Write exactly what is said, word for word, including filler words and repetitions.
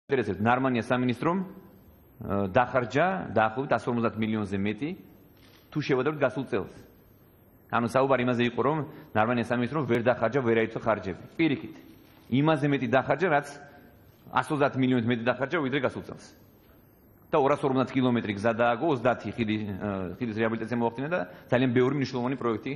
ინტერესებს ნარმანია სამინისტრომ დახარჯა დაახლოებით εκατს ორმოცდაათ მილიონზე მეტი თუ შევადაროთ გასულ წელს. ანუ საუბარი იმაზე იყო, რომ ნარმანია სამინისტრომ ვერ დახარჯა ვერაერთო ხარჯები. პირიქით, იმაზე მეტი დახარჯა, რაც εκατს ოცდაათ მილიონით მეტი დახარჯა ვიდრე გასულ წელს. და ორას ორმოცდაათ კილომეტრი გზა დააგო, ოცდაათი ხიდის რეაბილიტაცია მოახდინა და ძალიან ბევრი მნიშვნელოვანი პროექტი